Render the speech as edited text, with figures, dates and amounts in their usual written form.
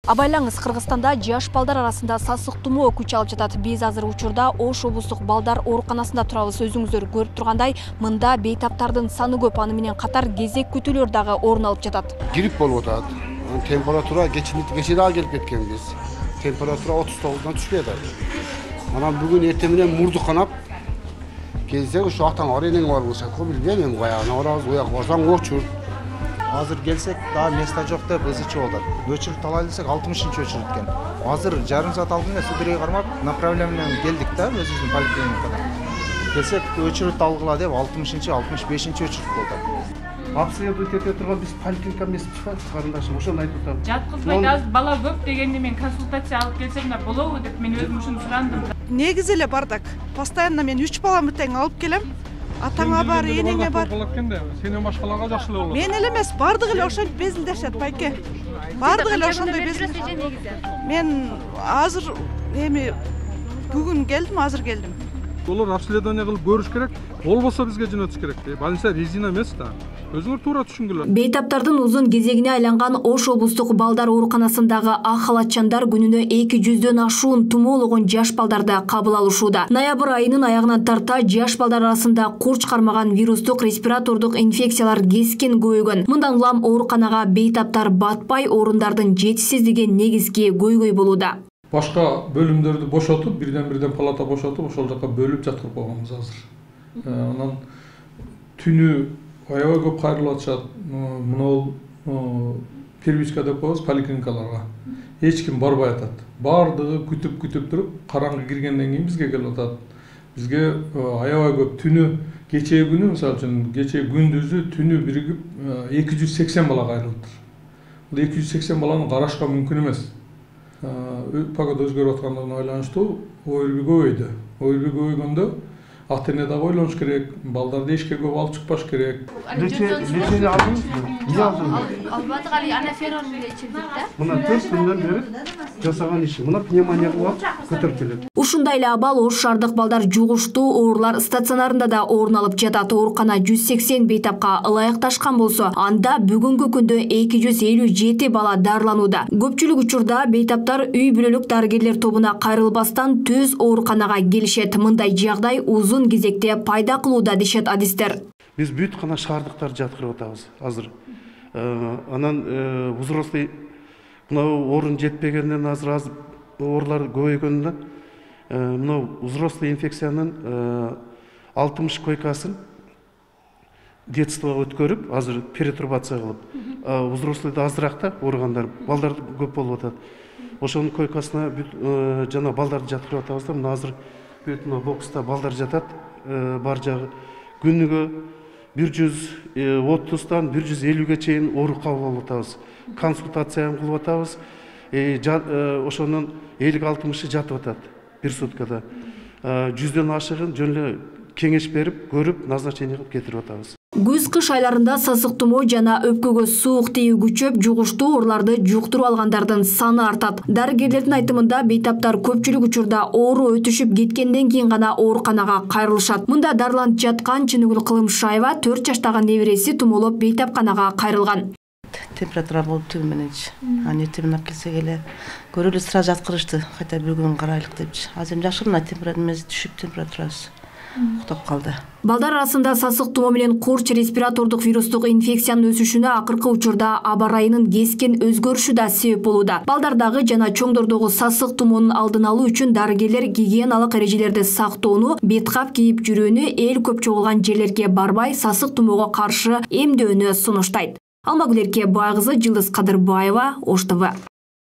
Абайлаңыз, Кыргызстанда жаш балдар арасында сасык тумоо күч алып жатат. Биз азыр учурда Ош облустук балдар ооруканасында турабыз. Өзүңүздөр көрүп тургандай, мында бейтаптардын саны көп, аны менен катар кезек күтүүлөр дагы орун алып жатат. Грипп болуп атат. Температура кече дагы келип кеткенбиз. Температура 39-дан түшпөй атат. Анан бүгүн эртең менен мурду канап келсек, ушу атаң бар, энең бар болсо, билбейм, каягына барабыз, уяк барсаң очур. Азыр келсек, да место жок деп ызычы болот. Өчүрүп алайлы десек 60-чы өчүрүп экен. Азыр жарым саат алдында Судырайга кармап, направление менен келдик да, өзүбүздүн поликлиникадан. Келсек, өчүрүп алгыла деп 60-чы, 65-чи өчүрүп болду. Обследовать ете турган биз поликлиника эмеспиз, карындашым, ошону айтып атам. Жаткызбайт, азыр бала көп дегенде мен консультация алып келсем да болобу деп мен өзүм ушуну сурандым. Негизи эле бардак. Постоянно мен 3 баламды тең алып келем. Атаңа бар, энеңе бар. Сенен башкаларга жакшы эле болот. Мен эле эмес, бардыгы эле ошентип безилдешет, байке. Бардыгы эле ошондой безилдешет. Мен азыр бүгүн келдим, азыр келдим. Олар обследование кылып көрүш керек. Болбосо бизге жөнөтүш керек. Больница резина эмес да. Өзүңөр туура түшүнгүлө. Бейтаптардын узун кезегине айланган Ош облустук балдар ооруканасындагы ак халатчандар күнүнө 200дөн ашуун тумоологон жаш балдарды кабыл алышууда. Ноябрь айынын аягынан тарта жаш балдар арасында курч кармаган вирустук респиратордук инфекциялар кескен көбөйгөн. Мындан улам ооруканага бейтаптар батпай, орундардын жетишсиздиги негизги көйгөй болууда. Башка бөлүмдөрдү бошотуп, бирден палата бошотуп, ошол жака бөлүп жаткырып койгонбуз азыр. Анан түнү аябай көп кайрылып атышат. Мына первичка деп коебуз поликлиникаларга. Эч ким барбай атат. Бардыгы күтүп туруп, караңгы киргенден кийин бизге келип атат. Бизге аябай көп түнү, кечээ күнү, мисалы үчүн, кечээ күндүзү түнү биригип 280 бала кайрылыптыр. Бул 280 баланы карашка мүмкүн эмес. Погода өзгөрүп аткандыгына байланыштуу ойрби көбөйдү. Ойрби көбөйгөндө ата-эне дагы ойлонуш керек, балдарды эшикке көп алып чыкпаш керек. Лечение алдыңызбы? Эмне алдыңыз? Албадык, али анаферон менен ичирдик да. Мына 4 күндөн бери жасаган иши. Мына пневмония кылып көтөрүп келет. Ушундай эле абал Ош шаардык балдар жугуштуу оорулар стационарында да орун алып жатат. Оорукана 180 бейтапка ылайыкташкан болсо, анда бүгүнкү күндө 257 бала дарыланууда. Көпчүлүк учурда бейтаптар үй бүлөлүк дарыгерлер тобуна кайрылбастан төз ооруканага келишет. Мындай жагдай узун кезекте пайда кылууда дешет адистер. Биз бүт гана шаардыктарды жаткырып атабыз азыр. Анан взрослый мына орун жетпегенден азыр оорулар көбөйгөндөн мына взрослый инфекциянын 60 койкасын детствого өткөрүп, азыр перетурбация кылып, взрослыйда азыраак да ооругандар, балдар көп болуп атат. Ошонун койкасына бүт жана балдарды жаткырып атабыз да, мына азыр бүт бокста балдар жатат, бар жагы күнүгө 130-дан 150-ге чейин оору кабыл алып атабыз. Консультация кылып атабыз. Ошонун 50-60-ы жатып атат бир суткада. 100дөн ашыгын жөн эле кеңеш берип, көрүп, назначение кылып кетирип атабыз. Күз-кыш айларында сасык тумоо жана өпкөгө суук тиүү күчөп, жугуштуу ооруларды жуктуруп алгандардын саны артат. Дарыгерлердин айтымында бейтаптар көпчүлүк учурда оору өтүшүп кеткенден кийин гана ооруканага кайрылышат. Мында дарыланып жаткан Чыныгүл Кылымшаева 4 жаштагы небереси тумоолоп бейтапканага кайрылган. Температура болуп түн мененчи. Эртең менен келсек эле көрөлү сразу жаткырышты. Кайта бир күн карайлык депчи. Азыр эми жакшы мына температурасы түшүп, температурасы уктап калды. Балдар арасында сасык тумоо менен курч респиратордук вирустук инфекциянын өсүшүнө акыркы учурда аба ырайынын кескен өзгөрүшү да себеп болууда. Балдардагы жана чоңдордогу сасык тумоонун алдын алуу үчүн дарыгерлер гигиеналык эрежелерди сактоону, бет кап кийип жүрүүнү, эл көп чогулган жерлерге барбай сасык тумоого каршы эмдөөнү сунуштайт. Алмагүл Эркебай кызы, Жылдыз Кадырбаева, Ош ТВ.